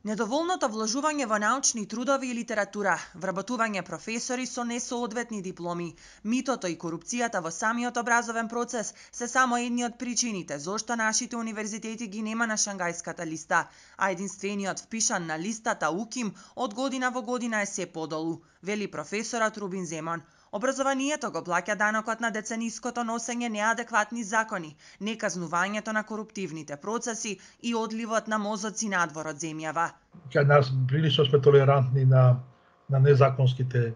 Недоволното вложување во научни трудови и литература, вработување професори со несоодветни дипломи, митото и корупцијата во самиот образовен процес се само едни од причините зошто нашите универзитети ги нема на Шангајската листа, а единствениот впишан на листата УКИМ од година во година е се подолу, вели професорот Рубин Земон. Образованието го плаќа данокот на децениското носење неадекватни закони, неказнувањето на коруптивните процеси и одливот на мозоци надвор од земјава. Кај нас прилично сме толерантни на незаконските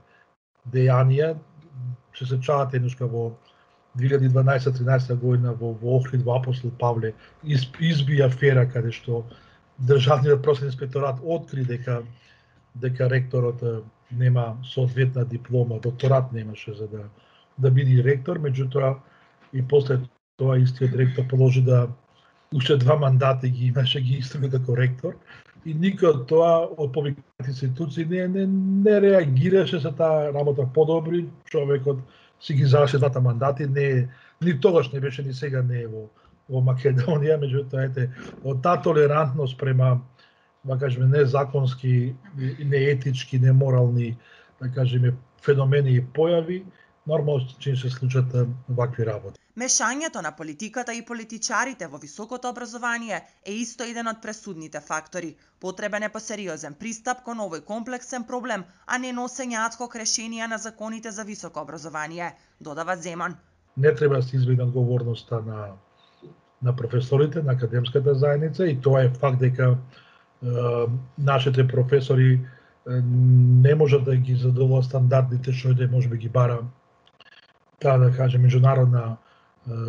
дејанија. Се сеќавате еднаш во 2012-13 година во Охрид, во Апостол Павле изби афера каде што Државниот просветен инспекторат откри дека ректорот нема соодветна диплома, докторат немаше за да биде ректор, меѓутоа и после тоа истиот ректор положи да уште 2 мандати ги имаше, ги истрави како ректор и никој од тоа од повиканите институции не реагираше за таа работа подобри, човекот си ги заврши 2 мандати, ни тогаш не беше, ни сега не е во Македонија, меѓутоа од таа толерантност према да кажеме незаконски, неетички, неморални, да кажеме феномени и појави, нормално че се случат вакви работи. Мешањето на политиката и политичарите во високото образование е исто еден од пресудните фактори. Потребен е посериозен пристап кон овој комплексен проблем, а не носење адхок решенија на законите за високо образование, додава Земон. Не треба да се избегне одговорноста на професорите, на академската заедница и тоа е факт дека нашите професори не можат да ги задоволат стандардите што можеби ги бара таа да кажем меѓународна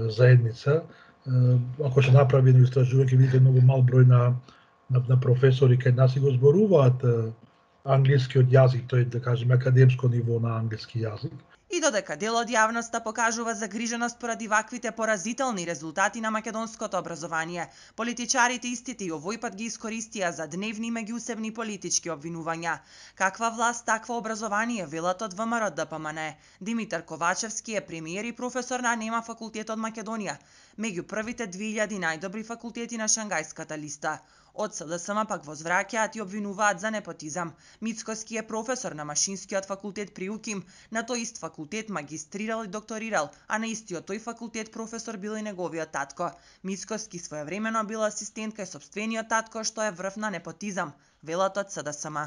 заедница. Ако ќе направи едно истражување, ќе видите многу мал број на професори кај нас и го зборуваат англискиот јазик, тој да кажеме академско ниво на англиски јазик. И додека дел од јавноста покажува загриженост поради ваквите поразителни резултати на македонското образование, политичарите истите и овој пат ги искористија за дневни меѓусебни политички обвинувања. Каква власт, такво образование, велат од ВМРО ДПМН. Димитар Ковачевски е премиер и професор на НЕМА факултет од Македонија, меѓу првите 2000 најдобри факултети на Шангајската листа. Од СДСМ пак возвраќаат и обвинуваат за непотизам. Мицкоски е професор на Машинскиот факултет при УКИМ, на тој ист факултет магистрирал и докторирал, а на истиот тој факултет професор бил и неговиот татко. Мицкоски своевремено бил асистент кај сопствениот татко, што е врв на непотизам, велат од СДСМ.